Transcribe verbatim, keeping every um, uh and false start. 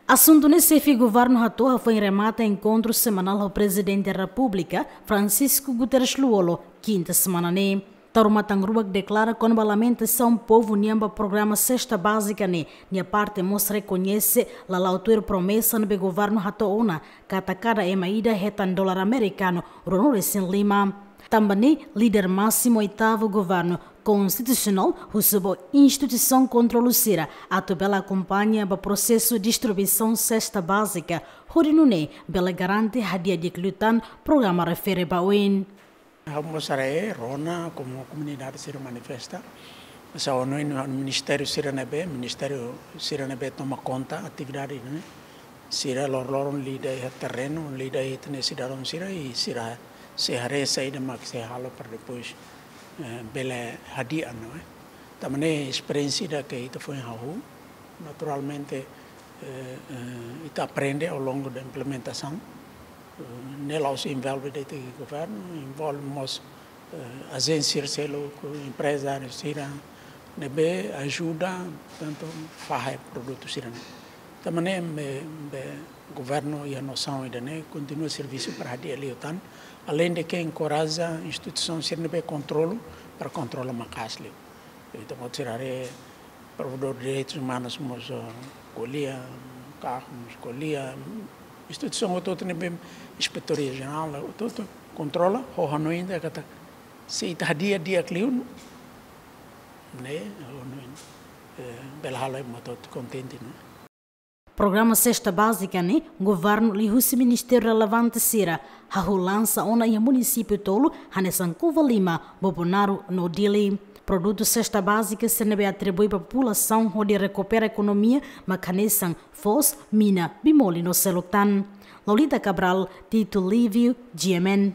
Asuntu ne'e xefe governu hato'o hafoin remata enkontru semanál ho Prezidente Repúblika, Francisco Guterres Lú-Olo, kinta semana ne'e. Taur matan-ruak deklara kona-ba lamentasaun povu nian ba programa Sesta Bázika ne'e, nia parte mós rekoñese lala'o tuir promesa ne'ebé governu hato'o ona, katak kada ema ida hetan dolar amerikanu ruanulu-resin-lima. Tanba ne'e, líder másimu oitavu governu konstitusionál husu ba instituisaun kontrolu sira atu bele akompaña ba prosesu distribuisaun sesta bázika, hodi nune'e bele garante hadi'a di'ak liután programa refere ba oin. Ha'u mós haree, rona, komu komunidade sira manifesta. Mas ha'u hanoin ministériu sira ne'ebé, ministériu sira ne'ebé toma konta atividade ne'e, sira loroloron lida iha terrenu, lida iha ita-nia sidadaun sira, i sira sei haree saida mak sei halo para depois, eh, bele hadi'a, não é? Tanba ne'e esperiénsia ida ke ita foin hahú, naturalmente, eh, eh, ita aprende ao longo da implementação. Eh, ne'e la'ós envolve de'it governu, envolve mós, eh, ajénsia seluk, emprezáriu sira ne'ebé ajuda, portantu, fahe produtu sira-ne'e. Tanba ne'e, be, be, governu iha nosaun ida-ne'e kontinua servisu para hadi'a liután, além de que enkoraja instituisaun sira ne'ebé kontrolu para kontrola maka'as liu. Ita-boot sira haree, provedór direitus umanus mós, eh, ko'alia, KAK mós ko'alia, instituisaun hotu-hotu ne'ebé, Inspetoria Jerál hotu-hotu kontrola, ho hanoin ida katak se ita hadi'a di'ak liu, ne'e, ho hanoin, eh, bele halo ema hotu-hotu kontente, ne'e? Programa Sesta Bázika ne'e, governu liuhusi ministériu relevante sira hahú lansa ona iha munisípiu tolu, hanesan Covalima, Bobonaro no Dili. Produtu sesta bázika sira ne'ebé atribui ba populasaun hodi rekupera ekonomia mak hanesan foos, mina, bemol no seluk tan. Lolita Cabral, Tito Livio, G M N.